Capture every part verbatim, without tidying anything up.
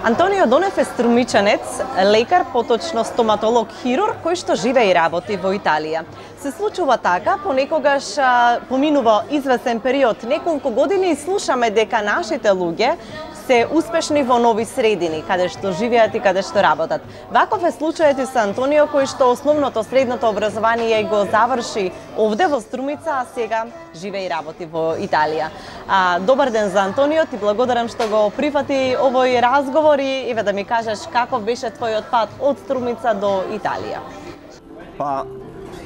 Антонио Донев е струмичанец, лекар, поточно стоматолог-хирург, кој што живее и работи во Италија. Се случува така, понекогаш поминува известен период, неколку години, и слушаме дека нашите луѓе се успешни во нови средини, каде што живеат и каде што работат. Ваков е случајот и со Антонио, кој што основното средното образование го заврши овде во Струмица, а сега живее и работи во Италија. А, добар ден за Антонио, ти благодарам што го прифати овој разговор и еве да ми кажеш каков беше твојот пат од Струмица до Италија. Па,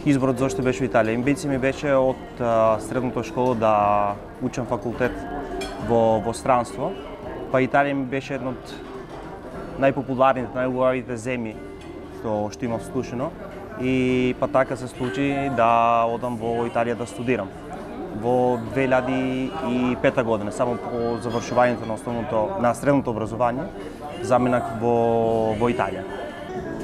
изборот зашто беше во Италија. Амбиција ми беше од а, средната школа да учам факултет во, во странство. Па Италија ми беше една од најпопуларните, најубавите земји што, што имав слушано. И па така се случи да одам во Италија да студирам. Во две илјади и пета година, само по завршувањето на основното, на средното образование, заминах во, во Италија.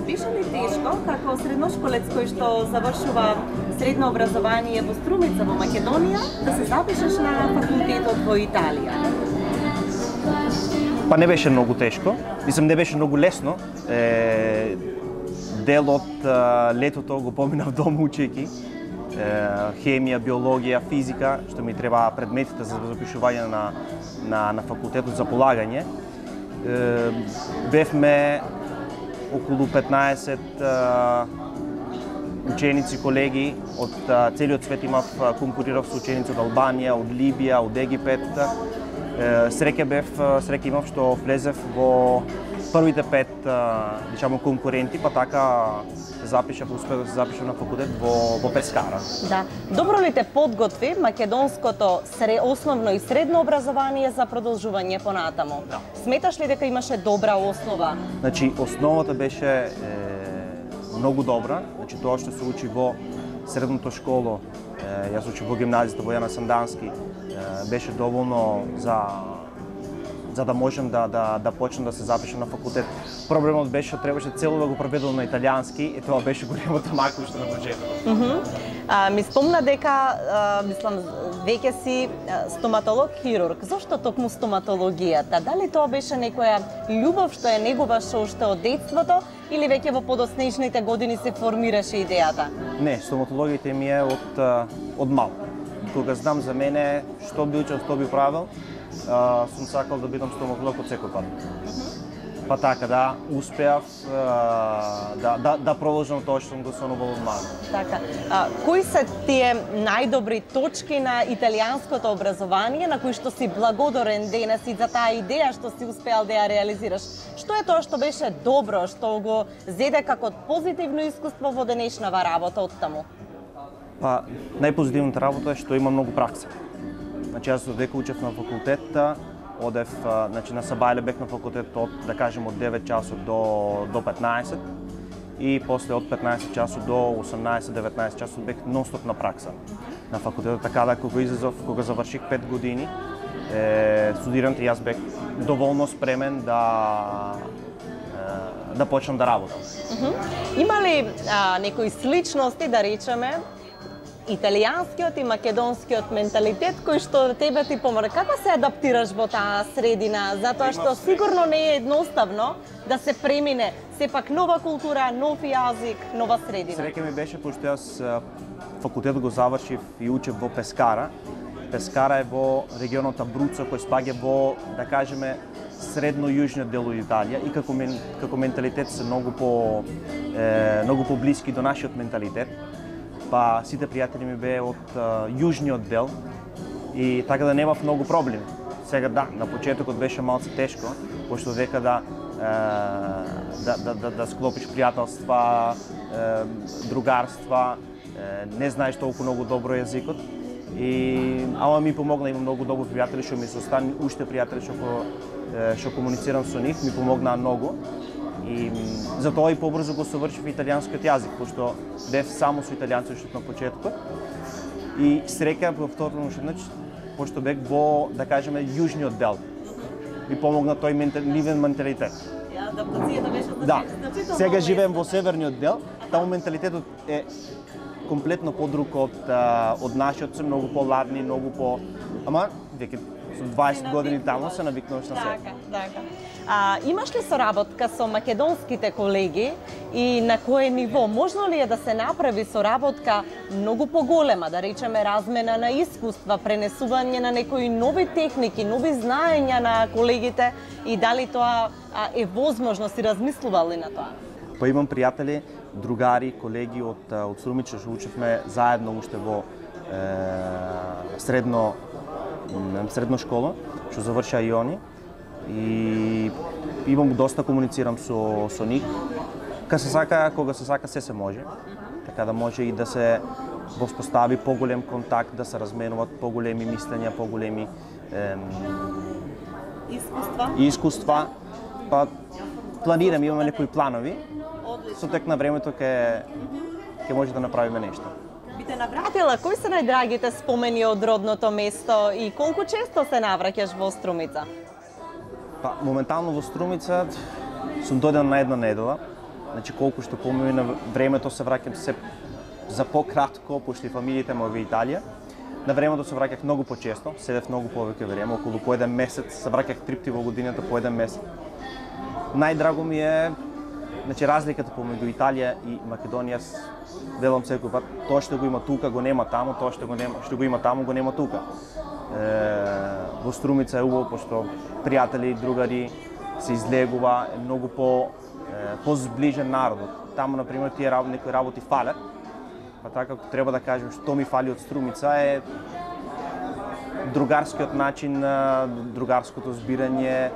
Беше ли тешко, како средношколец кој што завршува средно образование во Струмица во Македонија, да се запишеш на факултетот во Италија? Па не беше многу тешко, мислам не беше многу лесно. Е, дел од е, летото го поминав дома учејќи хемија, биологија, физика, што ми треба предметите за запишување на, на, на факултетот за полагање. Е, бевме околу петнаесет ученици, колеги од целиот свет. Имав, конкурирав со ученици од Албанија, од Либија, од Египет. Среќа бев, среќа имав што влезев во првите пет, речемо, конкуренти, па така запишав, успеав да се запишам на факултет во, во Пескара. Да. Добро ли те подготви македонското сре, основно и средно образование за продолжување понатаму? Да. Сметаш ли дека имаше добра основа? Значи, основата беше е, многу добра. Значи, тоа што се учи во средното школо, е, јас учив во гимназијата во Јана Сандански, е, беше доволно за за да можем да, да, да почнем да се запишем на факултет. Проблемот беше што требаше цело да го преведам на италијански и тоа беше големото макуште на почетокот. Mm -hmm. а, ми спомна дека, а, мислам, веќе си стоматолог-хирург. Зошто токму стоматологијата? Дали тоа беше некоја љубов што е негуваше уште од детството или веќе во подоснежните години се формираше идејата? Не, стоматологијата ми е од, од мал. Кога знам за мене што би учел, што би правил, Uh, сум сакал да бидам стоматолог од секој пат. Uh-huh. Па така, да, успеав uh, да, да, да продолжам тоа што сум го сонувал од мал. Така. А, кои се тие најдобри точки на италијанското образование на кои што си благодарен денес и за таа идеја што си успеал да ја реализираш? Што е тоа што беше добро, што го зеде како позитивно искуство во денешнава работа од таму? Па, најпозитивната работа е што има многу пракса. Значи, јас додека учев на факултет, одев, значи, на Сабајле бев на факултет од, да кажем, од девет часот до, до петнаесет и после од петнаесет часот до осумнаесет-деветнаесет часот бев нонстоп на пракса на факултетот, така да кога излезов, кога заврших пет години е, студирам, јас бев доволно спремен да е, да почнам да работам. Uh-huh. Има ли а, некои сличности, да речеме, италијанскиот и македонскиот менталитет кој што тебе ти помага? Како се адаптираш во таа средина? Затоа што сигурно не е едноставно да се премине сепак нова култура, нов јазик, нова средина. Среќа ми беше пошто јас факултет го завршив и учев во Пескара. Пескара е во регионот Абруцо, кој спаѓа во, да кажеме, средно-јужниот дел од Италија и како мен, како менталитет се многу по е, многу поблиски до нашиот менталитет. Па сите пријатели ми беа од uh, јужниот дел и така да немав многу проблеми. Сега да, на почетокот беше малце тешко, пошто дека да, uh, да, да, да, да склопиш пријателства, uh, другарства, uh, не знаеш толку многу добро јазикот. И ама ми помогна, има многу добри пријатели што ми се остани, уште пријатели што што комуницирам со нив, ми помогнаа многу. И затоа и побрзо го совршив италијанскиот јазик, пошто бев само со италијанци уште на почетокот. И среќа во второ уште, пошто бев во, да кажеме, јужниот дел. Ми помогна тој ментал, нивен менталитет. Адаптацијата беше да. Сега живеем во северниот дел, таму менталитетот е комплетно подруг од од нашиот, се многу поладни, многу по, ама веќе со дваесет години таму се навикнуваш на се. Така, така. А, имаш ли соработка со македонските колеги и на кое ниво? Можно ли е да се направи соработка многу поголема, да речеме размена на искуства, пренесување на некои нови техники, нови знаења на колегите и дали тоа а, е возможно, си размислували на тоа? Па имам пријатели, другари, колеги од од Струмица што учевме заедно уште во е, средно средно школа, што завршаа и они. И имам доста комуницирам со со нив. Кога се сака, кога се сака се се може. Така да може и да се воспостави поголем контакт, да се разменуваат поголеми мислења, поголеми е, искуства. Искуства. Па планирам, имаме некои планови. Одлично. Со тек на времето ќе ќе може да направиме нешто. Би те навратила, кои се најдрагите спомени од родното место и колку често се навраќаш во Струмица? Па, моментално во Струмица сум дојден на една недела. Значи колку што помина времето се враќам се за пократко, пошто фамилиите ме во Италија. На времето се враќах многу почесто, седев многу повеќе време, околу по еден месец, се враќах три пати во годината по еден месец. Најдраго ми е, значи разликата помеѓу Италија и Македонија, велам секој пат, тоа што го има тука го нема таму, тоа што го нема, што го има таму го нема тука. Е, во Струмица е убаво пошто пријатели, другари се излегува, е многу по е, позближен народот. Таму на пример тие работи, некои работи фалат. Па така ако треба да кажем што ми фали од Струмица е другарскиот начин, другарското збирање,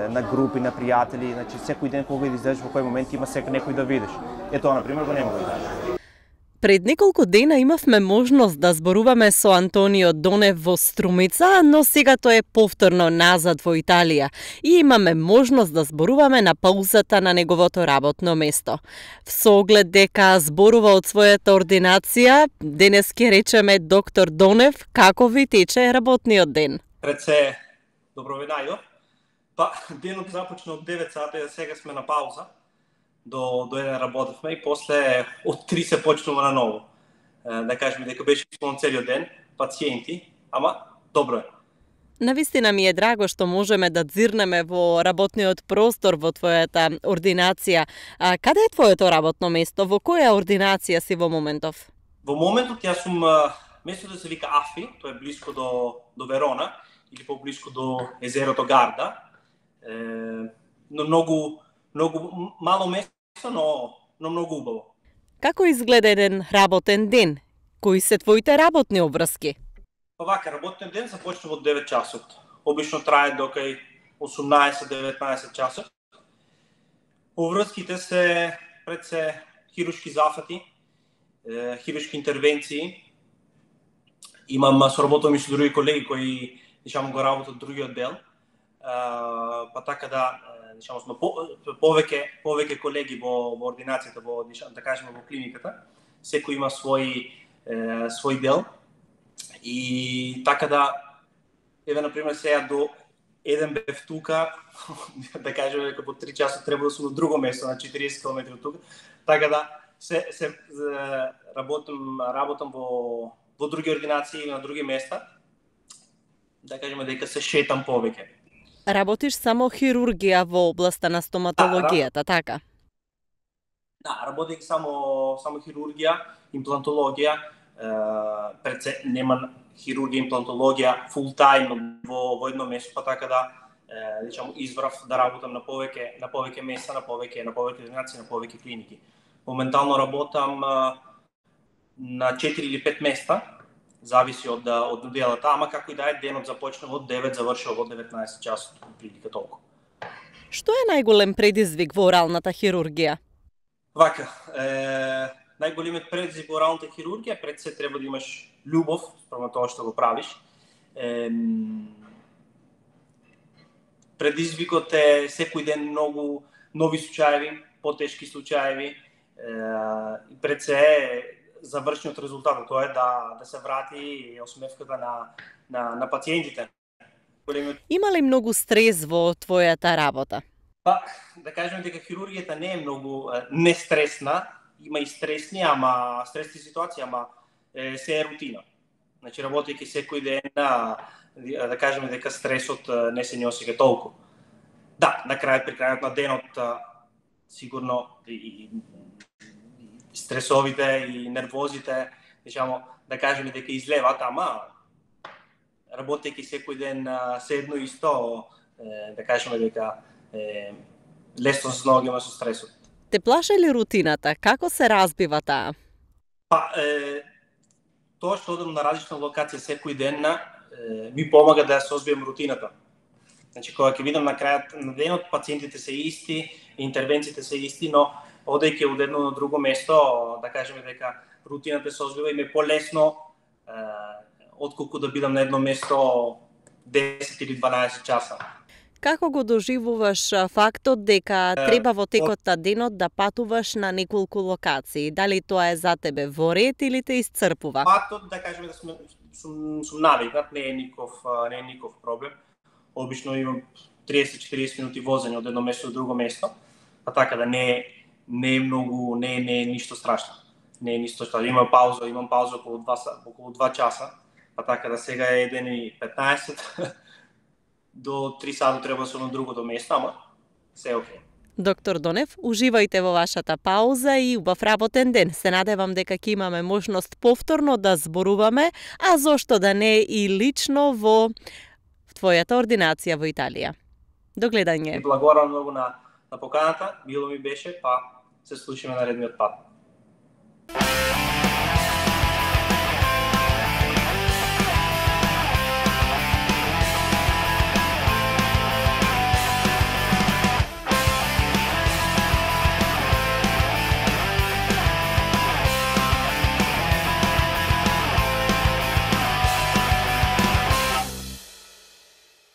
на групи, на пријатели, значи секој ден кога излезеш во кој момент има секој некој да видиш. Е тоа на пример го нема го видиш. Пред неколку дена имавме можност да зборуваме со Антонио Донев во Струмица, но сега тој е повторно назад во Италија и имаме можност да зборуваме на паузата на неговото работно место. Со оглед дека зборува од својата ординација, денес ќе речеме доктор Донев, како ви тече работниот ден? Пред се, добро ви најдов. Па, денот започна од девет сати, а сега сме на пауза. До, до еден работевме и после од три се почнува на ново. Да кажеме дека беше исполнет целиот ден, пациенти, ама добро е. Навистина ми е драго што можеме да дзирнеме во работниот простор во твојата ординација. А, каде е твоето работно место? Во која ординација си во моментов? Во моментот јас сум местото да се вика Афи, тоа е блиско до до Верона или поблиско до езерото Гарда. Е, но многу многу мало место, но но многу убаво. Како изгледа еден работен ден? Кои се твоите работни обврски? Па вака, работниот ден започнува од девет часот. Обично трае до кај осумнаесет деветнаесет часот. Обврските се пред се хируршки зафати, е, хируршки интервенции. Имам соработувам и со други колеги кои дишамо го работат другиот дел. Uh, па така да, дишамо сме по, повеќе повеќе колеги во во ординацијата, во да кажеме во клиниката. Секој има свој е, свој дел. И така да, еве на пример сега до еден бев тука, да кажеме дека по три часа треба да сум на друго место, на четириесет километри од тука. Така да се се работам работам во во други ординации или на други места. Да кажеме дека се шетам повеќе. Работиш само хирургија во областа на стоматологијата, да, така? Да, работих само само хирургија, имплантологија, е, пред се нема хирургија, имплантологија фул тајм во во едно место, па така да е, речам избрав да работам на повеќе на повеќе места, на повеќе на повеќе ординации, на повеќе клиники. Моментално работам е, на четири или пет места. Зависи од од неделата, ама како и да е, денот започнува од девет, завршува од деветнаесет часот, прилика толку. Што е најголем предизвик во оралната хирургија? Вака, е, најголемиот предизвик во оралната хирургија пред се треба да имаш љубов спрема тоа што го правиш. Е, предизвикот е секој ден многу нови случаеви, потешки случаеви. Е, пред се е завршниот резултат, тоа е да да се врати осмевката на на на пациентите. Има ли многу стрес во твојата работа? Па, да кажеме дека хирургијата не е многу не стресна, има и стресни, ама стресни ситуации, ама е, се е рутина. Значи, работејќи секој ден, да кажеме дека стресот не се не осеќа толку. Да, на крајот, при крајот на денот, сигурно и стресовите и нервозите, да кажеме дека излеват, ама работејќи секој ден се едно исто, да кажеме дека лесно се снаоѓаме со стресот. Те плаше ли рутината? Како се разбива таа? Па, е, тоа што одам на различна локација секој ден, е, ми помага да ја созбијам рутината. Значи, кога ќе видам на крајот на денот, пациентите се исти, интервенциите се исти, но одејќи од едно на друго место, да кажеме дека рутината се созбива и ме полесно, е, отколку да бидам на едно место десет или дванаесет часа. Како го доживуваш фактот дека треба во текот на денот да патуваш на неколку локации? Дали тоа е за тебе во ред или те исцрпува? Фактот, да кажеме да сум, сум, сум навикнат, не е ников, не е ников проблем. Обично имам триесет до четириесет минути возење од едно место до друго место, па така да не е не е многу, не е, не е ништо страшно. Не е ништо страшно. Имам пауза, имам пауза околу два околу два часа, па така да сега е еден и петнаесет. До три сата треба да сум на другото место, ама се е окей. Доктор Донев, уживајте во вашата пауза и убав работен ден. Се надевам дека ќе имаме можност повторно да зборуваме, а зошто да не и лично во твојата ординација во Италија. До гледање. Благодарам многу на, на поканата, било ми беше, па се слушаме наредниот пат.